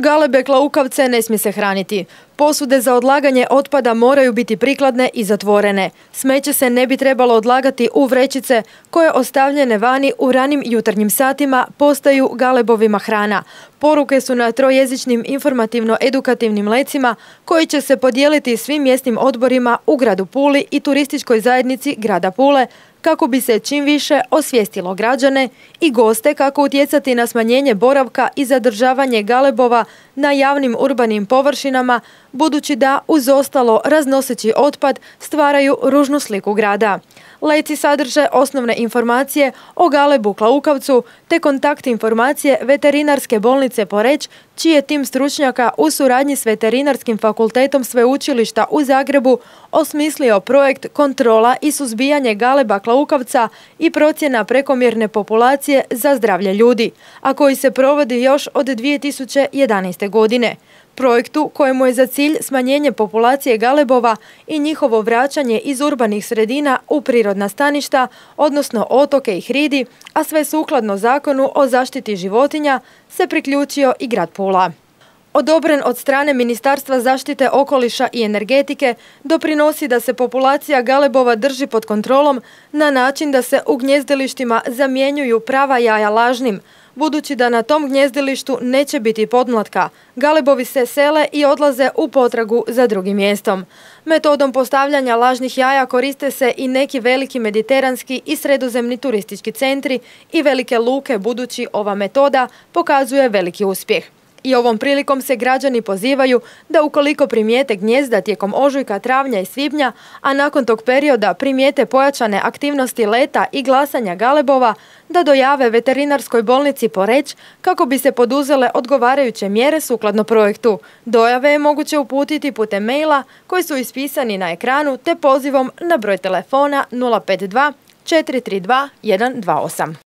Galebe klaukavce ne smije se hraniti. Posude za odlaganje otpada moraju biti prikladne i zatvorene. Smeće se ne bi trebalo odlagati u vrećice koje ostavljene vani u ranim jutarnjim satima postaju galebovima hrana. Poruke su na trojezičnim informativno-edukativnim lecima koji će se podijeliti svim mjesnim odborima u gradu Puli i turističkoj zajednici grada Pule kako bi se čim više osvijestilo građane i goste kako utjecati na smanjenje boravka i zadržavanje galebova na javnim urbanim površinama, budući da uz ostalo raznoseći otpad stvaraju ružnu sliku grada. Leci sadrže osnovne informacije o galebu klaukavcu te kontakt informacije Veterinarske bolnice Poreč, čiji je tim stručnjaka u suradnji s Veterinarskim fakultetom Sveučilišta u Zagrebu osmislio projekt kontrola i suzbijanje galeba klaukavca i procjena prekomjerne populacije za zdravlje ljudi, a koji se provodi još od 2011. godine. Projektu kojemu je za cilj smanjenje populacije galebova i njihovo vraćanje iz urbanih sredina u prirodna staništa, odnosno otoke i hridi, a sve sukladno Zakonu o zaštiti životinja, se priključio i grad Pula. Odobren od strane Ministarstva zaštite okoliša i energetike, doprinosi da se populacija galebova drži pod kontrolom na način da se u gnjezdilištima zamjenjuju prava jaja lažnim, budući da na tom gnjezdilištu neće biti podmlatka. Galebovi se sele i odlaze u potragu za drugim mjestom. Metodom postavljanja lažnih jaja koriste se i neki veliki mediteranski i sredozemni turistički centri i velike luke, budući ova metoda pokazuje veliki uspjeh. I ovom prilikom se građani pozivaju da ukoliko primijete gnjezda tijekom ožujka, travnja i svibnja, a nakon tog perioda primijete pojačane aktivnosti leta i glasanja galebova, da dojave Veterinarskoj bolnici Poreč kako bi se poduzele odgovarajuće mjere sukladno projektu. Dojave je moguće uputiti putem maila koji su ispisani na ekranu te pozivom na broj telefona 052 432 128.